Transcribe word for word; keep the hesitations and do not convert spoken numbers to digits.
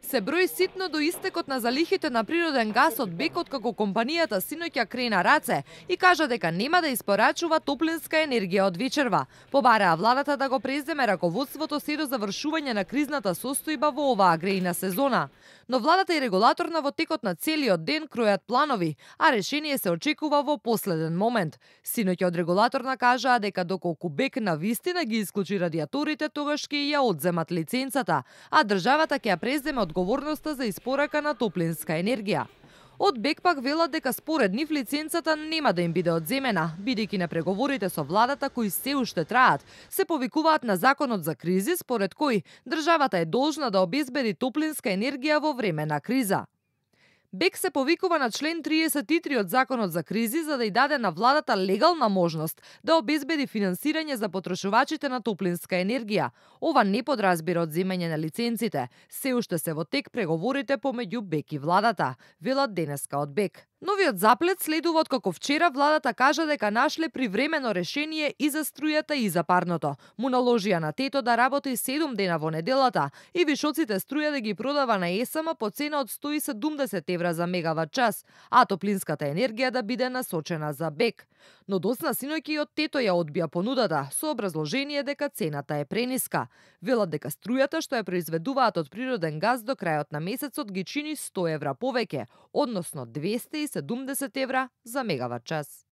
Се брои ситно до истекот на залихите на природен газ од БЕК откако компанијата синоќа крена раце и кажа дека нема да испорачува топлинска енергија од вечерва. Побараа владата да го преземе раководството се до завршување на кризната состојба во оваа грејна сезона. Но владата и регулаторна во текот на целиот ден кројат планови, а решение се очекува во последен момент. Синоќа од регулаторна кажаа дека доколку БЕК на вистина ги исклучи радиаторите, тогаш ќе ја одземат лиценцата, а државата ќе ја преземе одговорноста за испорака на топлинска енергија. Од БЕК пак велат дека според нив лиценцата нема да им биде одземена, бидејќи на преговорите со владата кои се уште траат, се повикуваат на законот за кризи според кој државата е должна да обезбеди топлинска енергија во време на криза. БЕК се повикува на член триесет и три од Законот за кризи за да ја даде на владата легална можност да обезбеди финансирање за потрошувачите на топлинска енергија. Ова не подразбира одземање на лиценците. Се уште се во тек преговорите помеѓу БЕК и владата, велат денеска од БЕК. Новиот заплет следува откако вчера владата кажа дека нашле привремено решение и за струјата и за парното. Му наложија на ТЕТО да работи седум дена во неделата и вишоците струја да ги продава на ЕСМ по цена од сто и седумдесет евра за мегават час, а топлинската енергија да биде насочена за БЕК. Но досна синоќа и од ТЕТО ја одбија понудата со образложение дека цената е прениска. Велат дека струјата што ја произведуваат од природен газ до крајот на месецот ги чини сто евра повеќе, односно двесте и седумдесет евра за мегават час.